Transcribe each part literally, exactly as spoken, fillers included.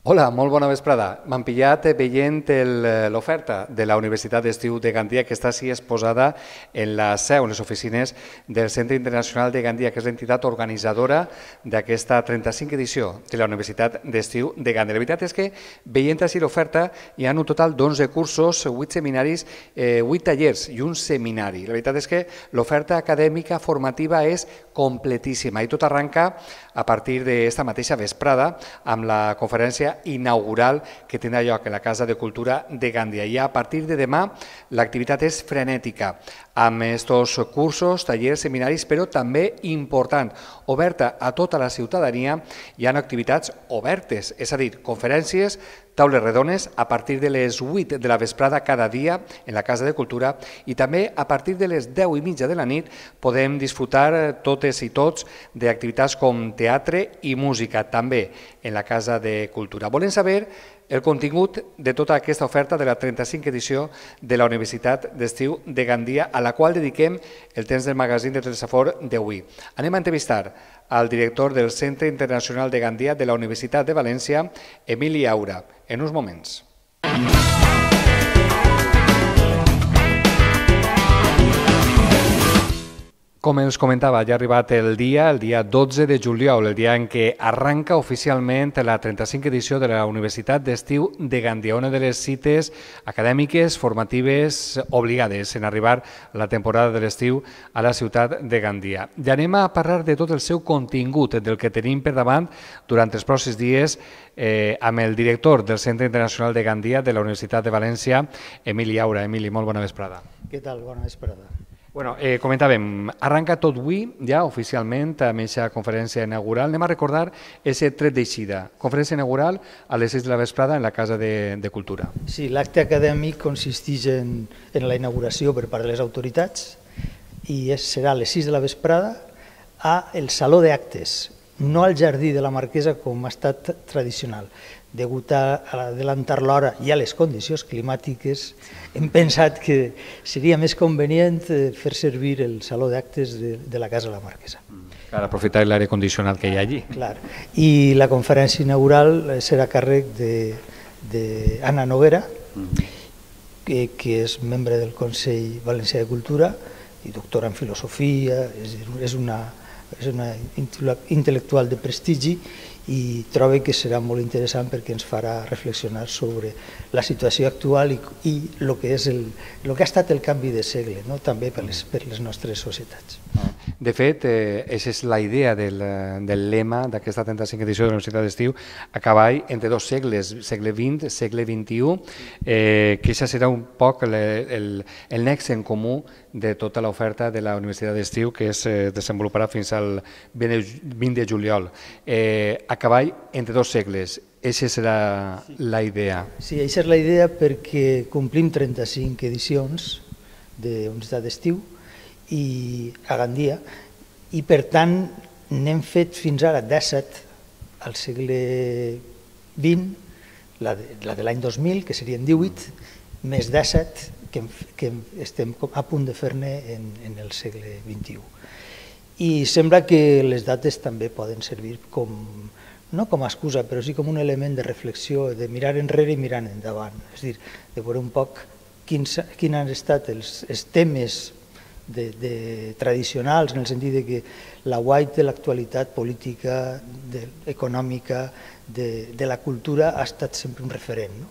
Hola, molt bona vesprada. M'han pillat veient l'oferta de la Universitat d'Estiu de Gandia, que està així exposada en la seu, en les oficines del Centre Internacional de Gandia, que és l'entitat organitzadora d'aquesta trenta-cinquena edició de la Universitat d'Estiu de Gandia. La veritat és que, veient així l'oferta, hi ha un total d'onze cursos, vuit seminaris, vuit tallers i un seminari. La veritat és que l'oferta acadèmica formativa és completíssima i tot arranca a partir d'esta mateixa vesprada amb la conferència inaugural que tindrà lloc a la Casa de Cultura de Gandia. I a partir de demà l'activitat és frenètica, amb aquests cursos, tallers, seminaris, però també important, oberta a tota la ciutadania. Hi ha activitats obertes, és a dir, conferències, taules redones a partir de les vuit de la vesprada cada dia en la Casa de Cultura i també a partir de les deu i mitja de la nit podem disfrutar totes i tots d'activitats com teatre i música, també en la Casa de Cultura. Volem saber el contingut de tota aquesta oferta de la trenta-cinquena edició de la Universitat d'Estiu de Gandia, a la qual dediquem el temps del magazín de Telesafor d'avui. Anem a entrevistar al director del Centre Internacional de Gandia de la Universitat de València, Emili Aura, en uns moments. Com ens comentava, ja ha arribat el dia, el dia dotze de juliol, el dia en què arranca oficialment la trenta-cinquena edició de la Universitat d'Estiu de Gandia, una de les cites acadèmiques, formatives, obligades en arribar la temporada de l'estiu a la ciutat de Gandia. Ja anem a parlar de tot el seu contingut, del que tenim per davant durant els pròxims dies eh, amb el director del Centre Internacional de Gandia de la Universitat de València, Emili Aura. Emili, molt bona vesprada. Què tal? Bona vesprada. Bueno, eh, comentàvem, arranca tot avui, ja oficialment, amb aquesta conferència inaugural. Anem a recordar aquest tret d'eixida. Conferència inaugural a les sis de la vesprada en la Casa de, de Cultura. Sí, l'acte acadèmic consisteix en, en la inauguració per part de les autoritats i és, serà a les sis de la vesprada a el Saló d'Actes, no al Jardí de la Marquesa com ha estat tradicional. Degut a adelantar l'hora i a les condicions climàtiques, hem pensat que seria més convenient fer servir el saló d'actes de, de la Casa de la Marquesa. Per aprofitar l'aire condicionat que hi ha allí. Clar. I la conferència inaugural serà a càrrec d'Anna Noguera, que, que és membre del Consell Valencià de Cultura i doctora en filosofia, és, és una... és una intel·lectual de prestigi i trobo que serà molt interessant perquè ens farà reflexionar sobre la situació actual i, i el que és el, el que ha estat el canvi de segle, no? També per les, per les nostres societats. De fet, eh, aquesta és la idea del, del lema d'aquesta trenta-cinquena edició de la Universitat d'Estiu, a cavall entre dos segles, segle vint, segle vint-i-u, eh, que això serà un poc el, el, el nexe en comú de tota l'oferta de la Universitat d'Estiu que es eh, desenvoluparà fins al vint de juliol. Eh, a cavall entre dos segles, aquesta serà la idea. Sí, aquesta és la idea perquè complim trenta-cinc edicions de Universitat d'Estiu i a Gandia, i per tant n'hem fet fins ara disset al segle vint, la de, la de l'any dos mil, que serien divuit, més disset que, que estem a punt de fer-ne en, en el segle vint-i-u. I sembla que les dates també poden servir com, no com a excusa, però sí com un element de reflexió, de mirar enrere i mirar endavant, és a dir, de veure un poc quins, quins han estat els, els temes De, de tradicionals, en el sentit de que la guait de l'actualitat política, de, econòmica, de, de la cultura ha estat sempre un referent. No?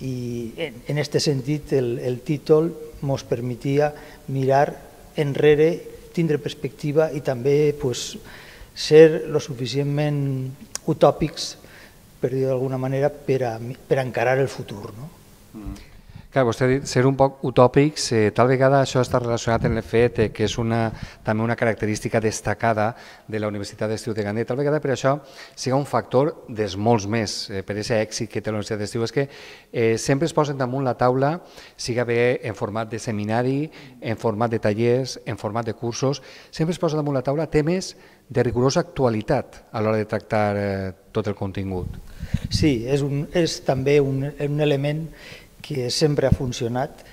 I en aquest sentit el, el títol ens permetia mirar enrere, tindre perspectiva i també pues, ser lo suficientment utòpics, per dir d'alguna manera, per a, per a encarar el futur. No? Mm. Clar, vostè ha dit ser un poc utòpics, eh, tal vegada això està relacionat amb el fet eh, que és una, també una característica destacada de la Universitat d'Estiu de Gandia. Tal vegada per això siga un factor dels molts més, eh, per aquest èxit que té la Universitat d'Estiu, és que eh, sempre es posen damunt la taula, siga bé en format de seminari, en format de tallers, en format de cursos, sempre es posen damunt la taula temes de rigorosa actualitat a l'hora de tractar eh, tot el contingut. Sí, és, un, és també un, un element que sempre ha funcionat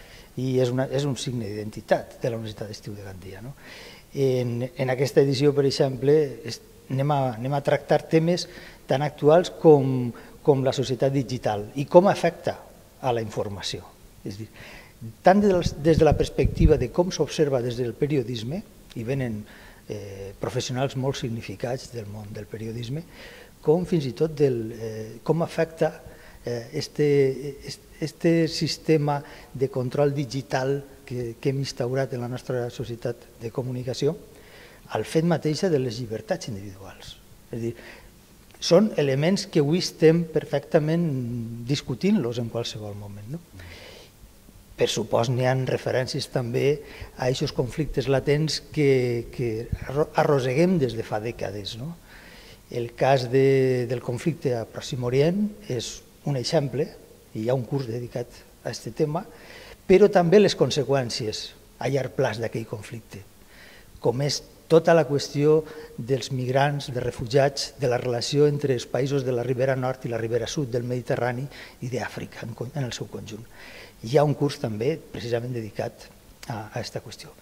i és, una, és un signe d'identitat de la Universitat d'Estiu de Gandia. No? En, en aquesta edició, per exemple, es, anem, a, anem a tractar temes tan actuals com, com la societat digital i com afecta a la informació. És a dir, tant des de la perspectiva de com s'observa des del periodisme, i venen eh, professionals molt significats del món del periodisme, com fins i tot del, eh, com afecta eh, este, este sistema de control digital que, que hem instaurat en la nostra societat de comunicació al fet mateixa de les llibertats individuals. És a dir, són elements que avui estem perfectament discutint-los en qualsevol moment. No? Per supost, n'hi ha referències també a aquests conflictes latents que, que arrosseguem des de fa dècades. No? El cas de, del conflicte a Pròxim Orient és un exemple, i hi ha un curs dedicat a aquest tema, però també les conseqüències a llarg plaç d'aquell conflicte, com és tota la qüestió dels migrants, dels refugiats, de la relació entre els països de la ribera nord i la ribera sud del Mediterrani i d'Àfrica en el seu conjunt. Hi ha un curs també precisament dedicat a aquesta qüestió.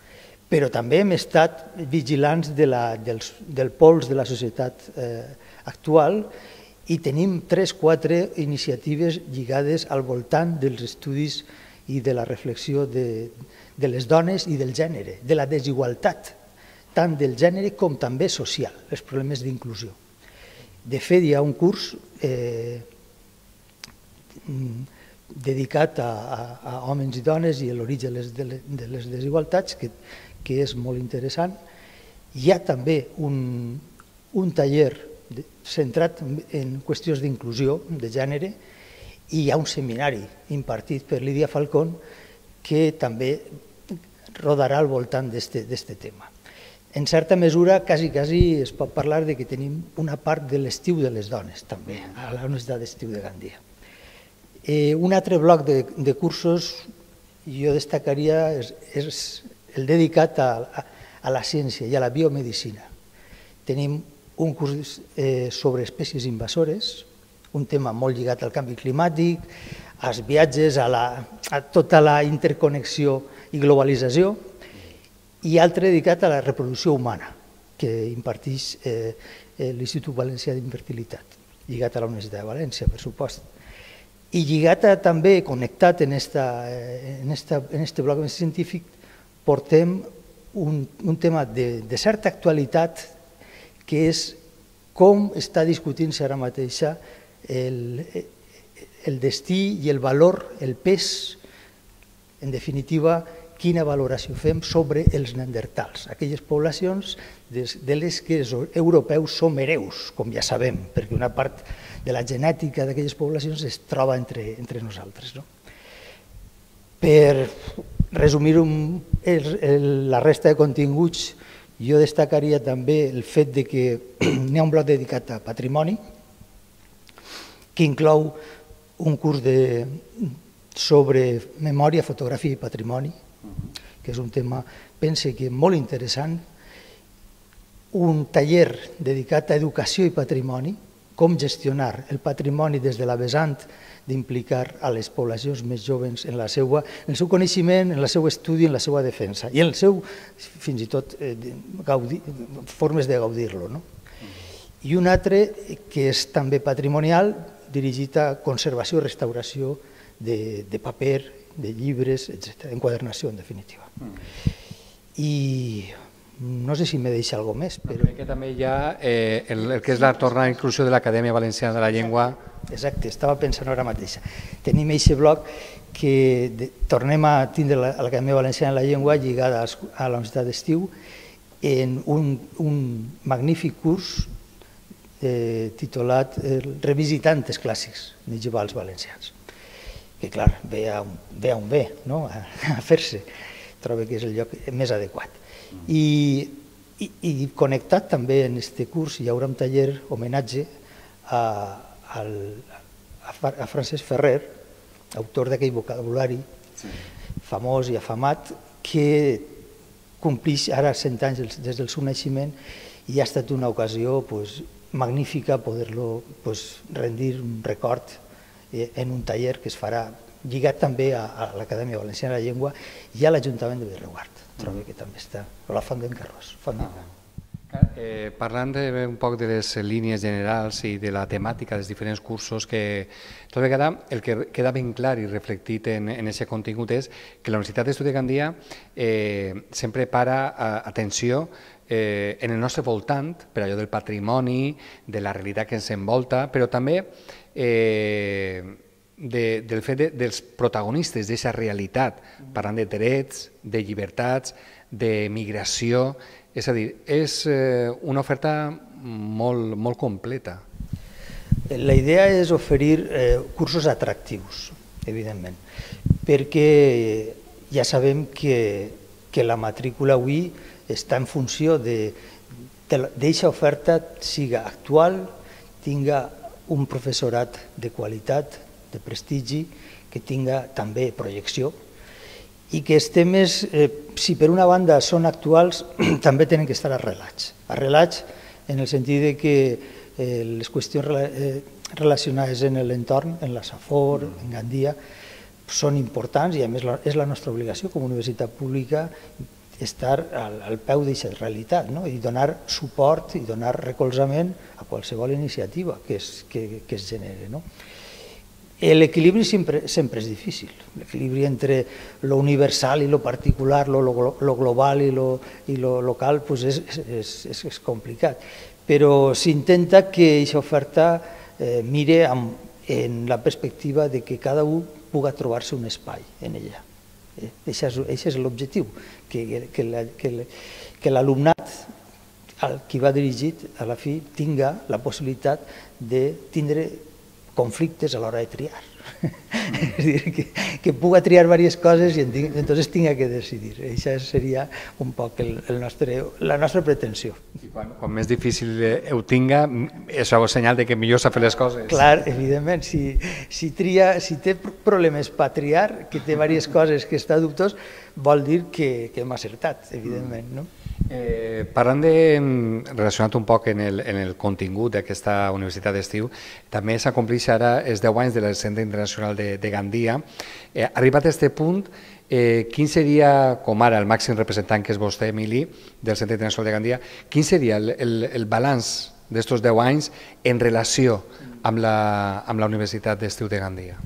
Però també hem estat vigilants de la, dels, del pols de la societat eh, actual i tenim tres o quatre iniciatives lligades al voltant dels estudis i de la reflexió de, de les dones i del gènere, de la desigualtat, tant del gènere com també social, els problemes d'inclusió. De fet, hi ha un curs eh, dedicat a, a, a homes i dones i l'origen de, les, de les desigualtats, que, que és molt interessant. Hi ha també un, un taller de, centrat en qüestions d'inclusió de gènere i hi ha un seminari impartit per Lídia Falcón que també rodarà al voltant d'aquest tema. En certa mesura, quasi, quasi es pot parlar de que tenim una part de l'estiu de les dones, també, a la Universitat d'Estiu de Gandia. Eh, un altre bloc de, de cursos, jo destacaria, és, és el dedicat a, a, a la ciència i a la biomedicina. Tenim un curs eh, sobre espècies invasores, un tema molt lligat al canvi climàtic, als viatges, a, la, a tota la interconnexió i globalització, i altre dedicat a la reproducció humana, que imparteix eh, l'Institut Valencià d'Infertilitat, lligat a la Universitat de València, per supost. I lligat a, també, connectat en aquest bloc científic, portem un, un tema de, de certa actualitat, que és com està discutint-se ara mateixa el, el destí i el valor, el pes, en definitiva, quina valoració fem sobre els neandertals, aquelles poblacions de les que els europeus som hereus, com ja sabem, perquè una part de la genètica d'aquelles poblacions es troba entre, entre nosaltres. No? Per resumir un, el, el, la resta de continguts, jo destacaria també el fet de que n'hi ha un bloc dedicat a patrimoni, que inclou un curs de, sobre memòria, fotografia i patrimoni, que és un tema, pense que molt interessant, un taller dedicat a educació i patrimoni, com gestionar el patrimoni des de la vessant d'implicar a les poblacions més joves en, la seva, en el seu coneixement, en el seu estudi, en la seva defensa i en el seu, fins i tot, eh, gaudir, formes de gaudir-lo. No? I un altre que és també patrimonial, dirigit a conservació i restauració de, de paper, de llibres, etcètera, enquadernació, en definitiva. I no sé si me deixa alguna cosa més, però... Crec que també hi ha eh, el, el que és la tornada inclusió de l'Acadèmia Valenciana de la Llengua. Exacte, estava pensant ara mateixa. Tenim aquest bloc que de, tornem a tindre l'Acadèmia Valenciana de la Llengua lligada a la Universitat d'Estiu en un, un magnífic curs eh, titulat eh, Revisitant els clàssics medievals valencians, que clar, ve a un, ve, a un bé, no? a, a fer-se, trobo que és el lloc més adequat. I, i, i connectat també en aquest curs hi haurà un taller homenatge a, a, a Francesc Ferrer, autor d'aquell vocabulari sí. famós i afamat, que complix ara cent anys des del seu naixement i ha estat una ocasió pues, magnífica poder-lo pues, rendir un record en un taller que es farà lligat també a, a l'Acadèmia Valenciana de la Llengua i a l'Ajuntament de Bereguard, trobo que també està, o la Font d'en Carròs. Eh, parlant de, un poc de les línies generals i de la temàtica dels diferents cursos, que tota vegada el que queda ben clar i reflectit en aquest contingut és que la Universitat d'Estudi de Gandia eh, sempre para a, atenció eh, en el nostre voltant, per allò del patrimoni, de la realitat que ens envolta, però també eh, de, del fet de, dels protagonistes d'aquesta realitat, parlant de drets, de llibertats, de migració. És a dir, és una oferta molt, molt completa. La idea és oferir eh, cursos atractius, evidentment, perquè ja sabem que, que la matrícula avui està en funció de d'aquesta oferta siga actual, tinga un professorat de qualitat, de prestigi, que tinga també projecció, i que els temes, eh, si per una banda són actuals, també tenen que estar arrelats. Arrelats en el sentit de que eh, les qüestions eh, relacionades en l'entorn, en la Safor, en Gandia, són importants i a més la, és la nostra obligació com a universitat pública estar al, al peu d'aquesta realitat, no? I donar suport i donar recolzament a qualsevol iniciativa que es, que, que es genere, no? L'equilibri sempre, sempre és difícil, l'equilibri entre lo universal i lo particular, lo, lo, lo global i lo, i lo local, pues és, és, és, és complicat. Però s'intenta que aquesta oferta eh, mire amb, en la perspectiva de que cada un pugui trobar-se un espai en ella. Eh, Això és, és l'objectiu, que, que, la, que, que l'alumnat al qui va dirigit a la fi tinga la possibilitat de tindre conflictes a l'hora de triar. És dir, que, que puga triar diverses coses i entonces tinga que decidir. Això seria un poc el, el nostre, la nostra pretensió. I quan, quan més difícil ho tinga, és un senyal de que millor s'ha fet les coses. Clar, evidentment, si, si, tria, si té problemes per triar, que té diverses coses que està dubtós, vol dir que, que hem acertat, evidentment, no? Eh, parlant de, relacionat un poc en el, en el contingut d'aquesta universitat d'estiu, també s'acomplix ara els deu anys del Centre Internacional de, de Gandia. Eh, arribat a aquest punt, eh, quin seria, com ara el màxim representant que és vostè, Emili, del Centre Internacional de Gandia, quin seria el, el, el balanç d'estos deu anys en relació amb la, amb la Universitat d'Estiu de Gandia?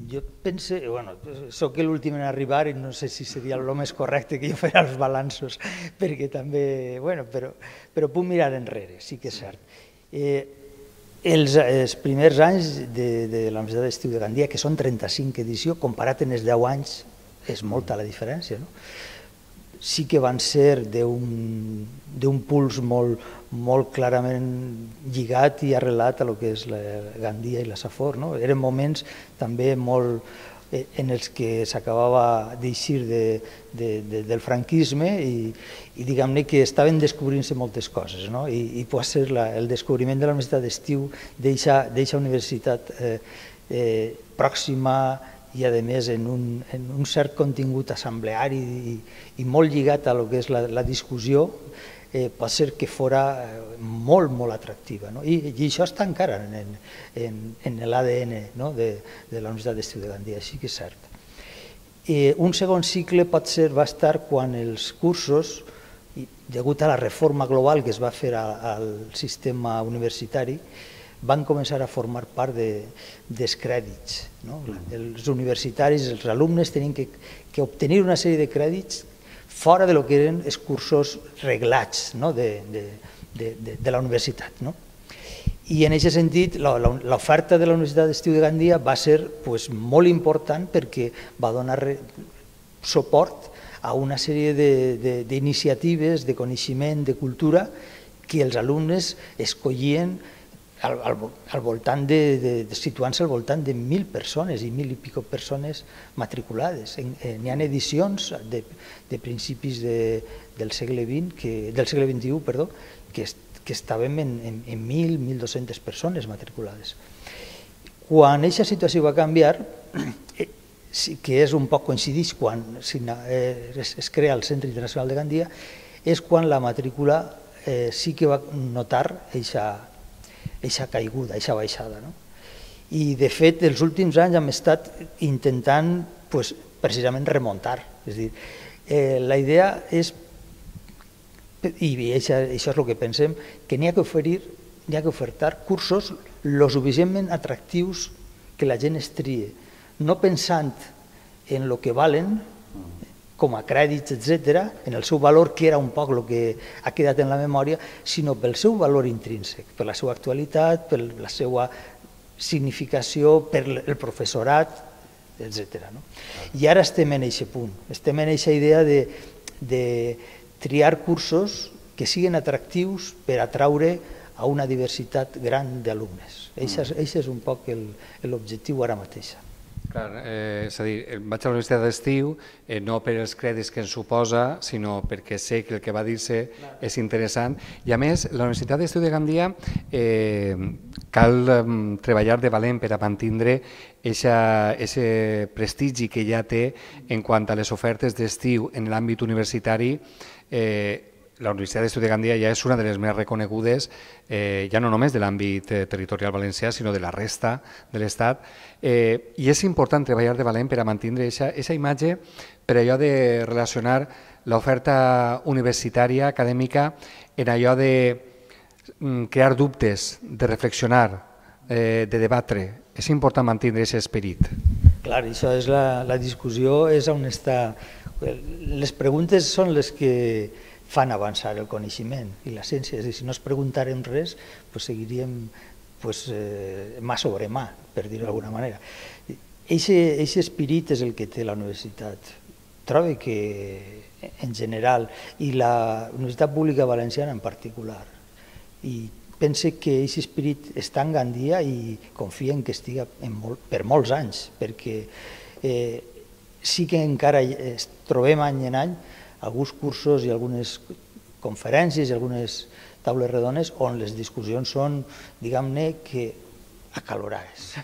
Jo pense, bueno, soc l'últim en arribar i no sé si seria el més correcte que jo faré els balanços, perquè també, bueno, però, però puc mirar enrere, sí que és cert. Eh, els, els primers anys de, de la Universitat d'Estiu de Gandia, que són trenta-cinc edicions, comparat en els deu anys, és molta la diferència, no? Sí que van ser d'un puls molt, molt clarament lligat i arrelat a lo que és la Gandia i la Safor, no? Eren moments també molt en els que s'acabava d'eixir de, de, de, del franquisme i, i diguem-ne que estaven descobrint-se moltes coses, no? I, i pot ser la, el descobriment de la Universitat d'Estiu d'eixa universitat eh, eh, pròxima i a més en un, en un cert contingut assembleari i, i molt lligat a lo que és la, la discussió, eh, pot ser que fora molt, molt atractiva, no? I, i això està encara en, en, en l'A D N, no? de, de la Universitat d'Estiu de Gandia, així que és cert. Eh, un segon cicle pot ser, va estar quan els cursos, i, degut a la reforma global que es va fer a, al sistema universitari, van començar a formar part de, dels crèdits, no? Els universitaris, els alumnes tenien que, que obtenir una sèrie de crèdits fora de lo que eren els cursos reglats, no? de, de, de, de la universitat, no? I en aquest sentit l'oferta de la Universitat d'Estiu de Gandia va ser pues, molt important perquè va donar suport a una sèrie d'iniciatives, de, de, de coneixement, de cultura que els alumnes escollien Al, al, al voltant de, de, de situant-se al voltant de mil persones i mil i pico persones matriculades. N'hi ha edicions de, de principis de, del segle vint, que, del segle vint-i-u, perdó, que, que estàvem en, en, en mil, mil dos-centes persones matriculades. Quan aquesta situació va canviar, eh, que és un poc coincidix quan eh, es, es crea el Centre Internacional de Gandia, és quan la matrícula eh, sí que va notar aquesta eixa caiguda, eixa baixada. No? I, de fet, els últims anys hem estat intentant pues, precisament remuntar. És dir, eh, la idea és i això, això és el que pensem, que n'hi ha que oferir, n'hi ha que ofertar cursos lo suficientment atractius que la gent es trie, no pensant en el que valen, com a crèdits, etcètera, en el seu valor, que era un poc el que ha quedat en la memòria, sinó pel seu valor intrínsec, per la seva actualitat, per la seva significació, per el professorat, etcètera. I ara estem en aquest punt, estem en aquesta idea de, de triar cursos que siguin atractius per atraure a una diversitat gran d'alumnes. Aquest és un poc l'objectiu ara mateix. Clar, eh, és a dir, vaig a la universitat d'estiu eh, no per els crèdits que ens suposa, sinó perquè sé que el que va dir-se és interessant. I a més, la Universitat d'Estiu de Gandia eh, cal eh, treballar de valent per a mantindre aquest prestigi que ja té en quant a les ofertes d'estiu en l'àmbit universitari. eh, La Universitat d'Estiu de Gandia ja és una de les més reconegudes, eh, ja no només de l'àmbit eh, territorial valencià, sinó de la resta de l'Estat. Eh, I és important treballar de valent per a mantenir aquesta imatge, per allò de relacionar l'oferta universitària, acadèmica, en allò de mm, crear dubtes, de reflexionar, eh, de debatre. És important mantenir aquest esperit. Clar, això és la, la discussió, és on està. Les preguntes són les que fan avançar el coneixement i la ciència. És a dir, si no es preguntarem res, pues seguiríem pues, eh, mà sobre mà, per dir-ho d'alguna manera. Aquest espirit és el que té la universitat. Trobo que, en general, i la Universitat Pública Valenciana en particular, i pense que aquest espirit està en Gandia i confien que estiga en molt, per molts anys, perquè eh, sí que encara es trobem any en any alguns cursos i algunes conferències i algunes taules redones on les discussions són, diguem-ne, que acalorades.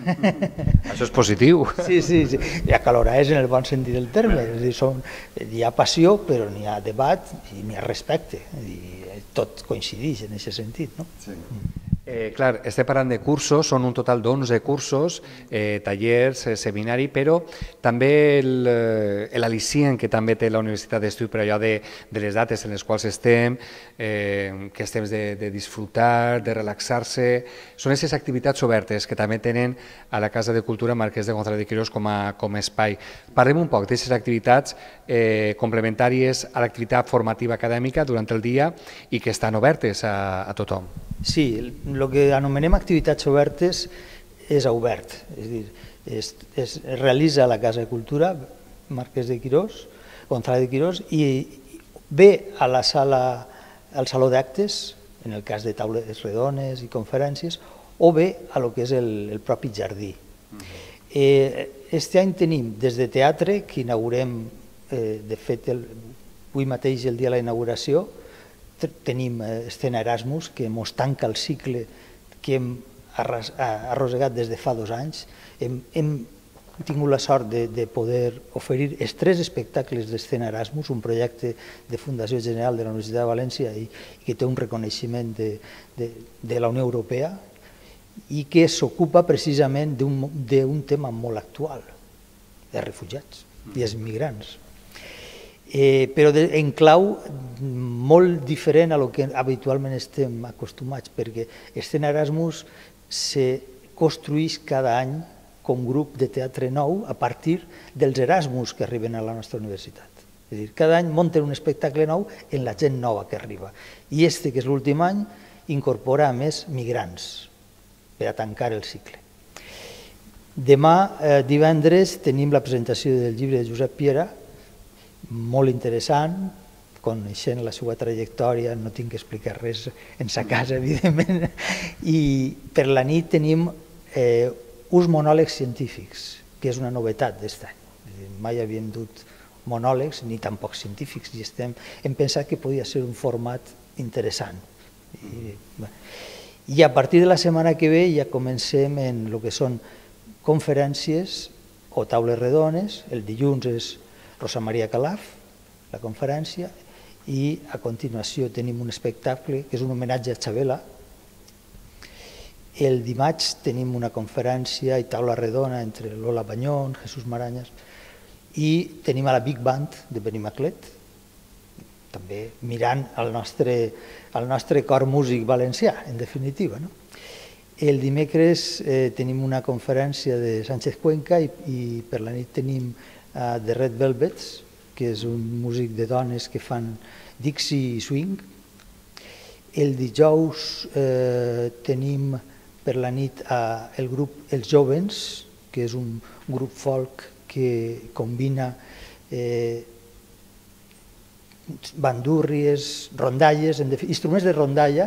Això és positiu. Sí, sí, sí, i acalorades en el bon sentit del terme. És a dir, són, hi ha passió, però n'hi ha debat i n'hi ha respecte. I tot coincideix en aquest sentit, no? Sí. Eh, clar, estem parlant de cursos, són un total d'onze cursos, eh, tallers, eh, seminari, però també l'al·licient que també té la Universitat d'Estiu per allò de, de les dates en les quals estem, eh, que és temps de, de disfrutar, de relaxar-se, són aquestes activitats obertes que també tenen a la Casa de Cultura Marquès de González de Quirós com a, com a espai. Parlem un poc d'aquestes activitats eh, complementàries a l'activitat formativa acadèmica durant el dia i que estan obertes a, a tothom. Sí, el que anomenem activitats obertes és obert, és a dir, es, es realitza a la Casa de Cultura Marquès de Quirós, González de Quirós, i ve a la sala, al saló d'actes, en el cas de taules redones i conferències, o ve a lo que és el, el propi jardí. Eh, este any tenim des de teatre, que inaugurem, eh, de fet, el, avui mateix el dia de la inauguració, tenim Escena Erasmus, que ens tanca el cicle que hem arrossegat des de fa dos anys. Hem, hem tingut la sort de, de poder oferir els tres espectacles d'Escena Erasmus, un projecte de Fundació General de la Universitat de València i, i que té un reconeixement de, de, de la Unió Europea i que s'ocupa precisament d'un tema molt actual, de refugiats i els migrants. Eh, però de, en clau molt diferent a lo que habitualment estem acostumats, perquè Escena Erasmus se construeix cada any com grup de teatre nou a partir dels Erasmus que arriben a la nostra universitat. És a dir, cada any munten un espectacle nou en la gent nova que arriba. I este, que és l'últim any, incorpora a més migrants per a tancar el cicle. Demà, eh, divendres, tenim la presentació del llibre de Josep Piera, molt interessant, coneixent la seva trajectòria, no tinc que explicar res en sa casa, evidentment, i per la nit tenim eh, uns monòlegs científics, que és una novetat d'aquest any. Mai havíem dut monòlegs, ni tampoc científics, i estem, hem pensat que podia ser un format interessant. I, I a partir de la setmana que ve ja comencem en el que són conferències o taules redones. El dilluns és Rosa Maria Calaf, la conferència, i a continuació tenim un espectacle que és un homenatge a Xabela. El dimarts tenim una conferència i taula redona entre Lola Banyón, Jesús Marañas, i tenim a la Big Band de Benimaclet, també mirant el nostre, el nostre cor músic valencià, en definitiva. No? El dimecres eh, tenim una conferència de Sánchez Cuenca i, i per la nit tenim uh, The Red Velvets, que és un músic de dones que fan Dixie i swing. El dijous eh, tenim per la nit uh, el grup Els Jovens, que és un grup folk que combina eh, bandúrries, rondalles, en instruments de rondalla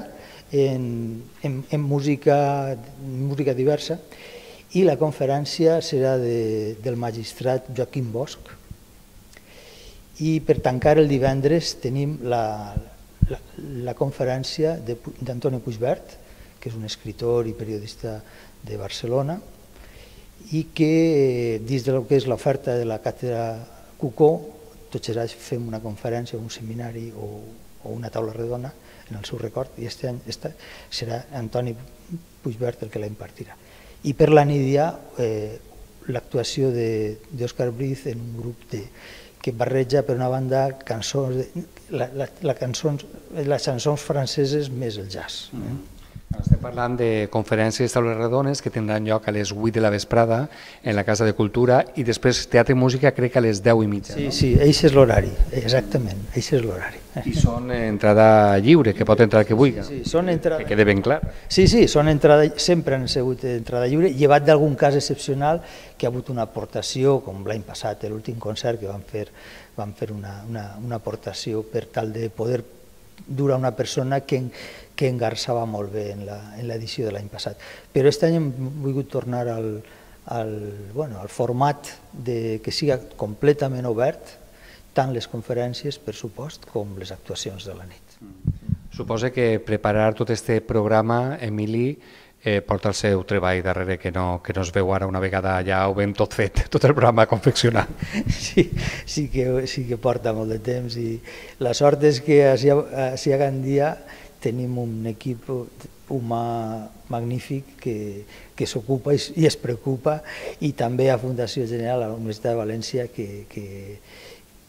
en, en, en música, música diversa, i la conferència serà de, del magistrat Joaquim Bosch. I per tancar el divendres tenim la, la, la conferència d'Antoni Puigvert, que és un escritor i periodista de Barcelona, i que dins del que és l'oferta de la càtedra Cucó, tots els anys fem una conferència, un seminari o, o una taula redona en el seu record, i aquest any esta, serà Antoni Puigvert el que la impartirà. I per la nit hi ha eh, l'actuació d'Òscar Briz en un grup de, que barreja per una banda cançons, de, la, la, la cançons, les cançons franceses més el jazz. Eh? Mm. Estem parlant de conferències taules redones que tindran lloc a les vuit de la vesprada en la Casa de Cultura i després teatre i música crec que a les deu i mitja. Sí, no? Sí, això és l'horari, exactament, això és l'horari. I són entrada lliure, que pot entrar que vulgui, sí, sí, són entrada... que quede ben clar. Sí, sí, són entrada... sempre han sigut entrada lliure, llevat d'algun cas excepcional que ha hagut una aportació, com l'any passat, l'últim concert que vam fer, vam fer una, una, una aportació per tal de poder dur a una persona que, que engarçava molt bé en l'edició de l'any passat. Però aquest any hem volgut tornar al, al, bueno, al format de, que siga completament obert, tant les conferències, per supost, com les actuacions de la nit. Suposa que preparar tot aquest programa, Emili, eh, porta el seu treball darrere, que no, que no es veu ara una vegada ja ho vam tot fet, tot el programa confeccionat. Sí, sí que, sí que porta molt de temps i la sort és que a Sia Gandia tenim un equip humà magnífic que, que s'ocupa i, i es preocupa, i també a Fundació General, a la Universitat de València, que, que,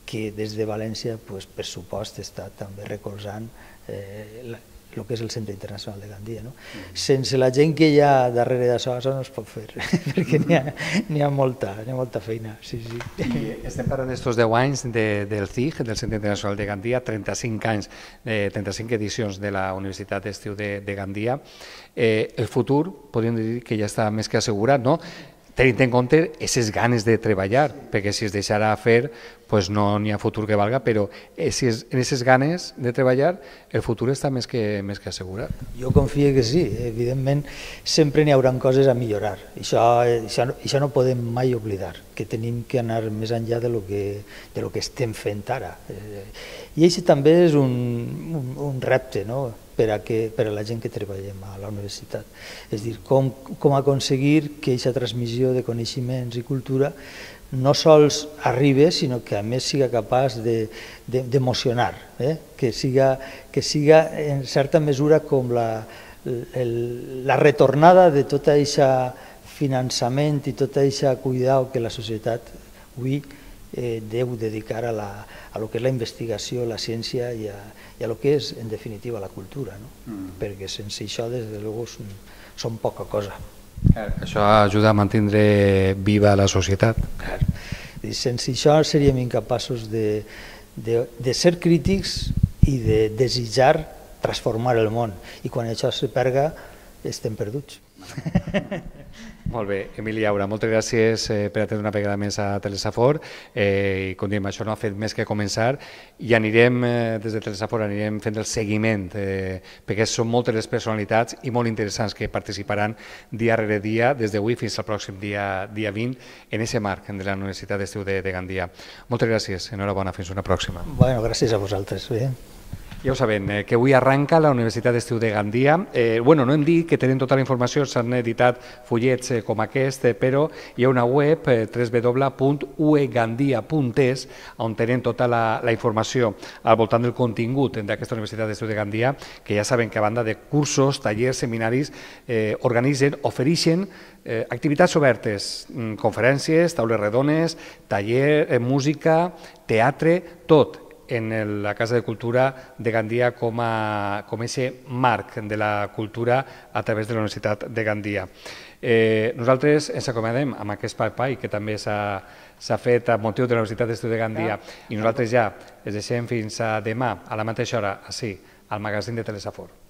que des de València, pues, per supost, està també recolzant eh, la, el que és el Centre Internacional de Gandia. No? Mm. Sense la gent que hi ha darrere d'això, això no es pot fer, perquè n'hi ha, ha, molta, ha molta feina. Sí, sí. I estem parlant d'estos deu anys de, del C I G, del Centre Internacional de Gandia, trenta-cinc anys, eh, trenta-cinc edicions de la Universitat d'Estiu de, de Gandia. Eh, el futur, podríem dir que ja està més que assegurat, no? Tenint en compte aquestes ganes de treballar, perquè si es deixarà fer, pues no n'hi ha futur que valga, però si és, en aquestes ganes de treballar, el futur està més que, més que assegurat. Jo confio que sí, evidentment sempre n'hi haurà coses a millorar, això, això, això no podem mai oblidar, que tenim que anar més enllà de lo que, de lo que estem fent ara. I això també és un, un, un repte, no? Per a, que, per a la gent que treballem a la universitat. És a dir, com, com aconseguir que aquesta transmissió de coneixements i cultura no sols arribi, sinó que a més siga capaç d'emocionar, de, eh? que, siga, que siga en certa mesura com la, el, la retornada de tot aquest finançament i tot aquest cuidado que la societat avui eh, deu dedicar a, la, a lo que és la investigació, la ciència i a, i a lo que és, en definitiva, la cultura, no? Mm. Perquè sense això, des de luego, són, són poca cosa. Clar, això ajuda a mantenir viva la societat. Clar. Sense això seríem incapaços de, de, de ser crítics i de desitjar transformar el món. I quan això se perga, estem perduts. Molt bé, Emili Aura, moltes gràcies eh, per atendre una vegada més a Telesafor eh, i com diem, això no ha fet més que començar i anirem, eh, des de Telesafor anirem fent el seguiment eh, perquè són moltes les personalitats i molt interessants que participaran dia rere dia des d'avui fins al pròxim dia, dia vint en aquest marc de la Universitat d'Estiu de, de Gandia. Moltes gràcies, enhorabona, fins una pròxima. Bueno, gràcies a vosaltres. Bé. Ja ho sabem, eh, que avui arranca la Universitat d'Estiu de Gandia. Eh, bueno, no hem dit que tenen tota la informació, s'han editat fullets eh, com aquest, eh, però hi ha una web, eh, w w w punt u e gandia punt es, on tenen tota la, la informació al voltant del contingut d'aquesta Universitat d'Estiu de Gandia, que ja saben que a banda de cursos, tallers, seminaris, eh, organitzen, ofereixen eh, activitats obertes, conferències, taules redones, taller, eh, música, teatre, tot. en la Casa de Cultura de Gandia com a com ese marc de la cultura a través de la Universitat de Gandia. Eh, nosaltres ens acomiadem amb aquest espai que també s'ha fet a motiu de la Universitat d'Estudis de Gandia i nosaltres ja es deixem fins a demà a la mateixa hora, així, al magazín de Telesafor.